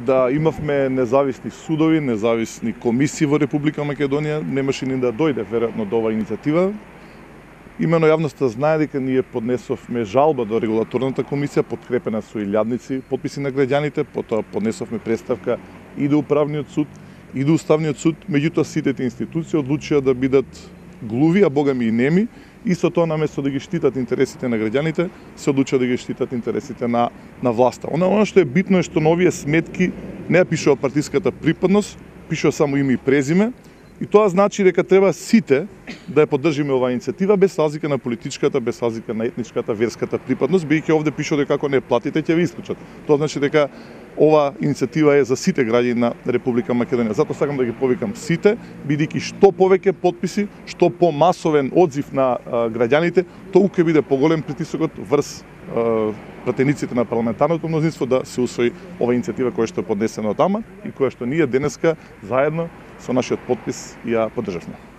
да имавме независни судови, независни комисии во Република Македонија, немаше ни да дојде веројатно до оваа иницијатива. Имено јавноста знае дека ние поднесовме жалба до регулаторната комисија, подкрепена со илјадници подписи на граѓаните, потоа поднесовме представка и до управниот суд, и до уставниот суд, меѓутоа сите тие институции одлучија да бидат глуви, а богами и неми, и со тоа наместо да ги штитат интересите на граѓаните, се одлучија да ги штитат интересите на власта. Она што е битно е што на овие сметки не ја пишува партиската припадност, пишува само име и презиме, и тоа значи дека треба сите да ја поддржиме оваа иницијатива без разлика на политичката, без разлика на етничката, верската припадност, бидејќи овде пишува дека ако не платите ќе ве исклучат. Тоа значи дека ова иницијатива е за сите граѓани на Република Македонија. Затоа сакам да ги повикам сите, бидејќи што повеќе подписи, што помасовен одзив на граѓаните, толку ќе биде поголем притисокот врз пратениците на парламентарното мнозинство да се усвои ова иницијатива која што е поднесена од ама и која што ние денеска заедно со нашиот подпис ја поддржавме.